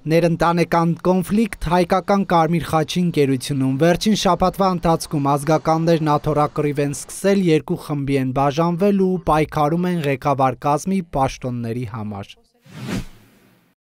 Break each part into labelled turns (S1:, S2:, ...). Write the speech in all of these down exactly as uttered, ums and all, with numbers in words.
S1: Ներընտանեկան կոնֆլիկտ հայկական Կարմիր խաչի ընկերությունում վերջին շաբաթվա ընթացքում ազգականներն աթոռակռիվ են սկսել, երկու խմբի են բաժանվել ու պայքարում են ղեկավար կազմի պաշտոնների համար։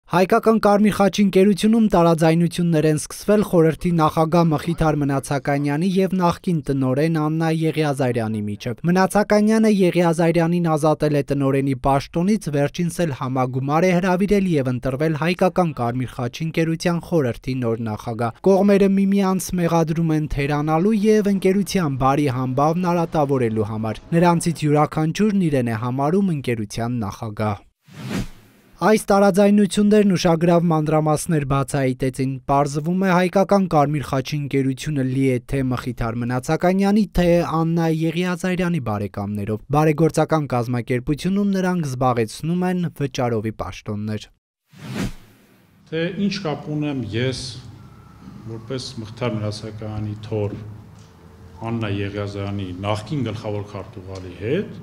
S1: Հայկական Կարմիր խաչի ընկերությունում տարաձայնություններ են սկսվել խորհրդի նախագահ Մխիթար Մնացականյանի և նախկին տնօրեն Աննա Եղիազարյանի միջև։ Մնացականյանը Եղիազարյանին ազատել է տնօրենի պաշտոնից, վերջինս էլ համագումար է հրավիրել և ընտրվել Հայկական Կարմիր խաչի ընկերության խորհրդի նոր նախագահ։ Կողմերը միմյանց մեղադրում են թերանալու և ընկերության բարի համբավն արատավորելու համար։ Նրանցից յուրաքանչյուրն իրեն է համարում ընկերության նախագահ։ Այս տարաձայնություններն ուշագրավ մանրամասներ բացահայտեցին։ Պարզվում է, Հայկական Կարմիր խաչի ընկերությունը լի է թե Մխիթար Մնացականյանի, թե Աննա Եղիազարյանի բարեկամներով։ Բարեգործական կազմակերպությունում նրանք զբաղեցնում են վճարովի պաշտոններ։
S2: Թե ինչ կապ ունեմ ես որպես Մխիթար Մնացակայանի թոռ Աննա Եղիազարյանի նախկին գլխավոր քարտուղարի հետ,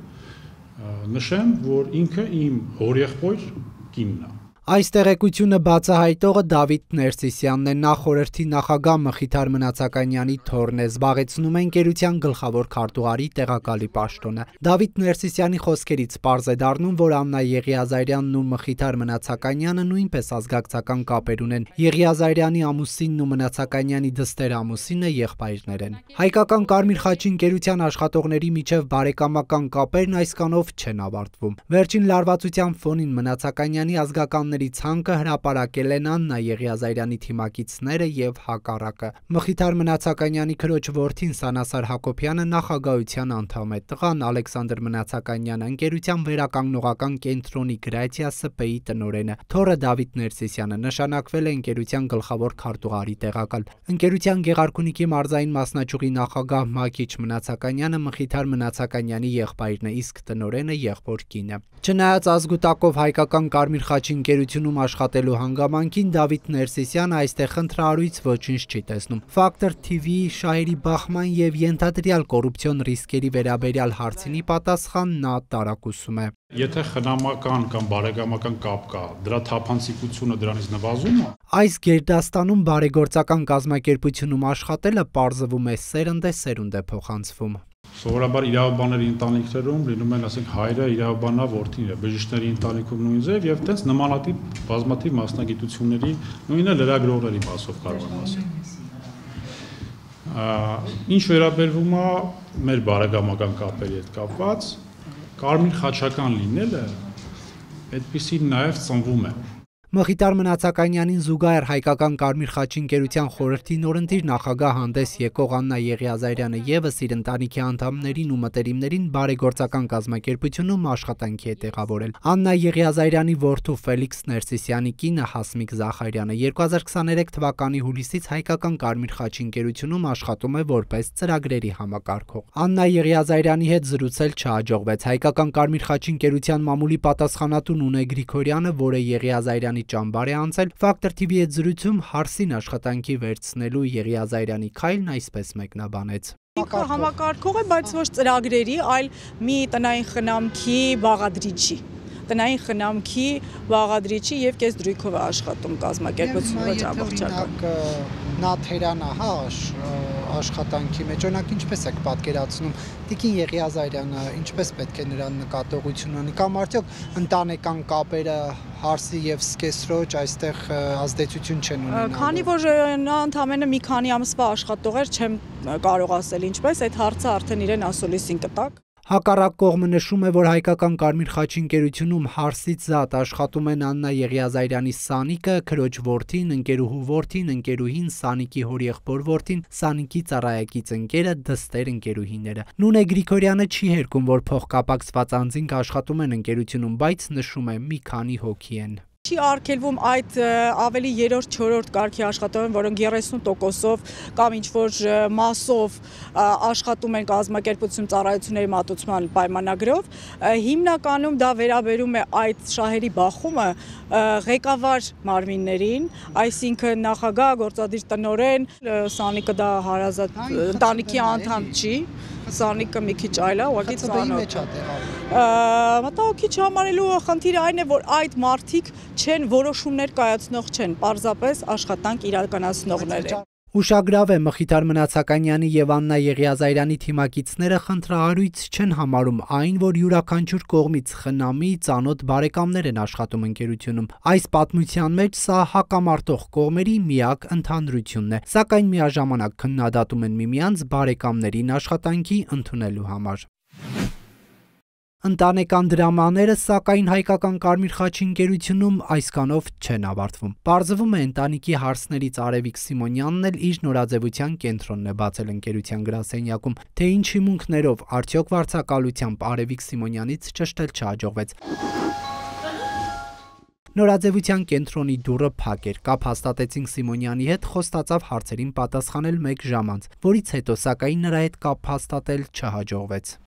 S2: նշեմ, որ ինքը իմ հորեղբայր կինն է։
S1: Այս տեղեկությունը բացահայտողը Դավիթ Ներսիսյանն է, նա խորհրդի նախագահ Մխիթար Մնացականյանի թոռն է, զբաղեցնում է ընկերության գլխավոր քարտուղարի տեղակալի պաշտոնը։ Դավիթ Ներսիսյանի խոսքերից պարզ է դառնում, որ Աննա Եղիազարյանն ու Մխիթար Մնացականյանը նույնպես ազգակցական կապեր ունեն։ Եղիազարյանի ամուսինն ու Մնացականյանի դստեր ամուսինը եղբայրներ են։ Հայկական Կարմիր խաչի ընկերության աշխատողների միջև բարեկամական կապերն այսքանով չեն ավարտվում։ Վերջին լարվածության ֆոնին Մնացականյանի ազգական ցանկը հրապարակել են Աննա Եղիազարյանի թիմակիցները և հակառակը։ Մխիթար Մնացականյանի քրոջ որդին Սանասար Հակոբյանը նախագահության անդամ է, տղան Ալեքսանդր Մնացականյանը ընկերության վերականգնողական կենտրոնի Գրացիա ՍՊ-ի տնօրենը, թոռը Դավիթ Ներսիսյանը նշանակվել է ընկերության գլխավոր քարտուղարի տեղակալ։ Ընկերության Գեղարքունիքի մարզային մասնաճյուղի նախագահ Մակիչ Մնացականյանը Մխիթար Մնացականյանի եղբայրն է, իսկ տնօրենը եղբոր կինը։ Չնայած ազգուտակով Հայկական Կարմիր խաչի ընկերությունում աշխատելու հանգամանքին, Դավիթ Ներսիսյանը այստեղ խնդրահարույց ոչինչ չի տեսնում։ Ֆակտոր թիվիի Շահերի Բախման և ենթադրյալ կոռուպցիոն ռիսկերի վերաբերյալ հարցինի պատասխան նա տարակուսում է։
S2: Եթե խնամական կամ բարեկամական կապ կա, դրա թափանցիկությունը դրանից նվազում է։
S1: Այս գերդաստանում բարեգործական կազմակերպությունում աշխատելը պարզվում է սերնդե սերունդ է փոխանցվում։
S2: Սովորաբար իրավաբանների ընտանիքներում լինում են, ասենք, հայրը իրավաբանա, որդին է, բժիշկների ընտանիքում նույն ձև եւ տենց նմանատիպ բազմաթիվ մասնագիտությունների, նույնը լրագրողների մասով կարող եմ ասել։ Ինչ վերաբերվում է մեր բարեկամական կապերի հետ կապված, կարմիր խաչական լինելը այդպիսին նաեւ ծնվում է։
S1: Մխիթար Մնացականյանին զուգահեռ Հայկական Կարմիր խաչի ընկերության խորհրդի նորընտիր նախագահ հանդես եկող Աննա Եղիազարյանը ևս իր ընտանիքի անդամներին ու մտերիմներին բարեգործական կազմակերպությունում աշխատանքի է տեղավորել։ Աննա Եղիազարյանի որդու Ֆելիքս Ներսիսյանի կինը Հասմիկ Զախարյանը երկու հազար քսաներեք թվականի հուլիսից Հայկական Կարմիր խաչի ընկերությունում աշխատում է որպես ծրագրերի համակարգող։ Աննա Եղիազարյանի հետ զրուցել չհաջողվեց։ Հայկական Կարմիր խաչի ընկերության մամուլի պատասխանատու Նունե Գրիգորյանը, որը Եղիազարյանի ճամբար է անցել, Ֆակտոր թիվի հետ զրույցում հարսին աշխատանքի վերցնելու Եղիազարյանի քայլն այսպես մեկնաբանեց։
S3: Ինքը համակարգող է, բայց ոչ ծրագրերի, այլ մի տնային խնամքի բաղադրիչի։ Տնային խնամքի բաղադրիչի և կես դրույքով է աշխատում կազմակերպությունը ոչ ամբողջական։
S1: Նա թերանա, հա, աշխատանքի մեջ, օրինակ ինչպես եք պատկերացնում, Տիկին Եղիազարյանը ինչպես պետք է նրան նկատողություն ունի, կամ արդյոք ընտանեկան կապերը հարսի և սկեսրոջ այստեղ ազդեցություն չեն ունենալու։
S3: Քանի որ նա ընդամենը մի քանի ամսվա աշխատող էր, չեմ կարող ասել ինչպես, այդ հարցը արդեն իրեն ասոլիսին կտակ։
S1: Հակառակ կողմը նշում է, որ Հայկական Կարմիր խաչի ընկերությունում հարսից զատ աշխատում են Աննա Եղիազարյանի Սանիկը, քրոջ որդին, ընկերուհու որդին, ընկերուհին, Սանիկի հորեղբոր որդին, Սանիկի ծառայակից ընկերը, դստեր ընկերուհիները։ Նունե Գրիգորյանը չի հերքում, որ փոխկապակցված անձինք աշխատում են ընկերությունում, բայց նշում է՝ մի քանի հոգի են։
S3: Չի արգելվում այդ ավելի երրորդ չորրորդ կարգի աշխատողներ, որոնք երեսուն տոկոսով կամ ինչ-որ մասով աշխատում են կազմակերպություն ծառայությունների մատուցման պայմանագրով, հիմնականում դա վերաբերում է այդ շահերի բախումը ղեկավար մարմիններին, այսինքն նախագահ, գործադիր տնօրեն, Սանիկը դա հարազատ ընտանիքի անդամ չի, Սանիկը մի քիչ այլ է, ուղղակի
S1: ծանոթ։
S3: Մտահոգիչ համարելու խնդիրը այն է, որ այդ մարդիկ չեն որոշումներ կայացնող չեն, պարզապես աշխատանք իրականացնողներ են։
S1: Ուշագրավ է Մխիթար Մնացականյանի եւ Աննա Եղիազարյանի թիմակիցները խնդրահարույց չեն համարում այն, որ յուրաքանչյուր կողմից խնամի ծանոթ բարեկամներ են աշխատում ընկերությունում։ Այս պատմության մեջ սա հակամարտող կողմերի միակ ընդհանրությունն է, սակայն միաժամանակ քննադատում են միմյանց բարեկամներին աշխատանքի ընդունելու համար։ Ընտանեկան դրամաները, սակայն հայկական Կարմիր խաչի ընկերությունում այսքանով չեն ավարտվում։ Պարզվում է ընտանիքի հարցներից Արևիկ Սիմոնյանն էլ իր նորաձևության կենտրոնն է բացել ընկերության գրասենյակում, թե ինչ հիմունքներով, արդյոք վարձակալությամբ Արևիկ Սիմոնյանից ճշտել չհաջողվեց։ Նորաձևության կենտրոնի դուռը փակ էր, կապ հաստատեցինք Սիմոնյանի հետ, խոստացավ հարցերին պատասխանել մեկ ժամ անց, որից հետո սակայն նրա հետ կապ հաստատել չհաջողվեց։